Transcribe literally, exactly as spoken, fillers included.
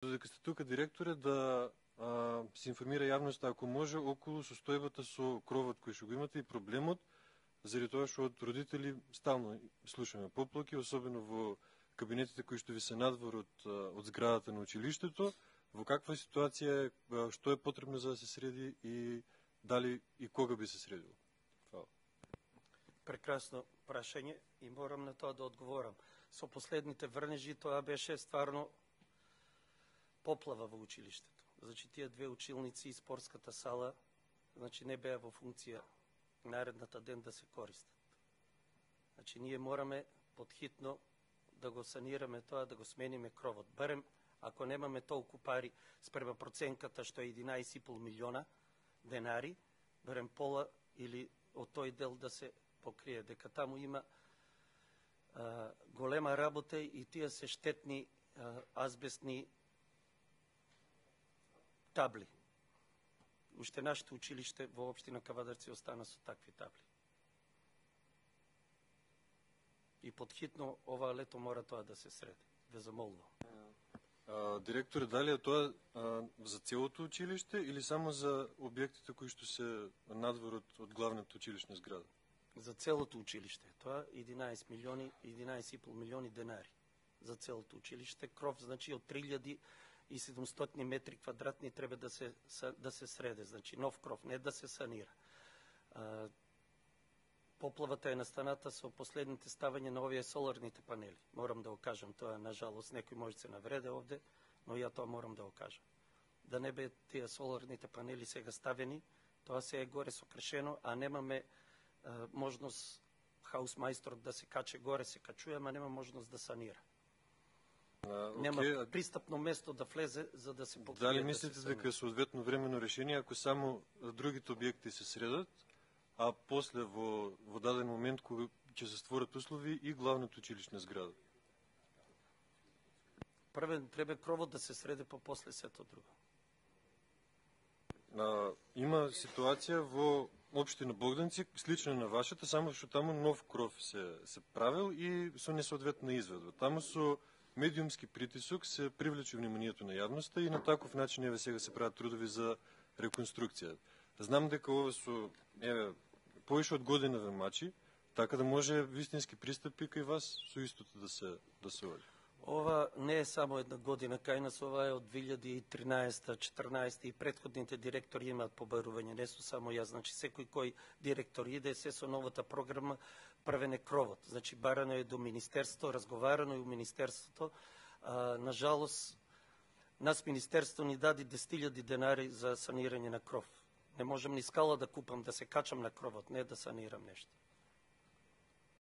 Додека сте тука, директоре, да а, се информира јавноста, ако може, околу состојбата со кровот кој што го имате и проблемот, заради тоа што од родители стално слушаме поплаки, особено во кабинетите кои што ви се надвор од, од зградата на училиштето. Во каква ситуација е, што е потребно за да се среди и дали и кога би се средило? Фала. Прекрасно прашање и морам на тоа да одговорам. Со последните врнежи тоа беше стварно поплава во училиштето. Значи тие две училници и спортската сала, значи не беа во функција наредната ден да се користат. Значи ние мораме подхитно да го санираме тоа, да го смениме кровот. Барем ако немаме толку пари спрема проценката што е единаесет и пол милиона денари, барем пола или од тој дел да се покрие, дека таму има а, голема работа и тие се штетни а, азбестни табли. Уште нашето училиште во општина Кавадарци остана со такви табли. И подхитно ова лето мора тоа да се среди. Ве замолувам. А, директор, дали е тоа а, за целото училиште или само за објектите кои што се надвор од, од главната училишна зграда? За целото училиште. Тоа единаесет милиони, единаесет и пол милиони денари за целото училиште. Кров, значи, од три илјади и седумстотини метри квадратни треба да се, да се среде. Значи, нов кров, не да се санира. А, поплавата е настаната со последните ставање на овие соларните панели. Морам да го кажам, тоа, нажалост, некој може да се навреде овде, но ја тоа морам да го кажам. Да не бе тие соларните панели сега ставени, тоа се е горе сокршено, а немаме а, можност хаусмајсторот да се каче горе, се качува, ама нема можност да санира. А, Нема okay. пристапно место да влезе за да се покрие. Дали мислите да дека соодветно времено решение, ако само другите објекти се средат, а после во, во даден момент кога ќе се створат услови и главната училишна зграда? Првен треба кровот да се среде, по после сето друго. А, има ситуација во општина Богданци, слична на вашата, само што таму нов кров се, се правил и со несоодветна изведба. Таму со медиумски притисок се привлече вниманието на јавноста и на таков начин еве сега се прават трудови за реконструкција. Знам дека ова со еве повеќе од година ве мачи, така да може вистински пристапи кај вас со истото да се да се оди. Ова не е само една година кај нас, ова е од две илјади и тринаесета, четрнаесета и претходните директори имаат побарување, не со само јас. Значи секој кој директор иде се со новата програма правене кровот. Значи барано е до министерство, разговарано и у министерството. А, нажалост, нас министерство ни даде десет илјади денари за санирање на кров. Не можам ни скала да купам, да се качам на кровот, не да санирам нешто.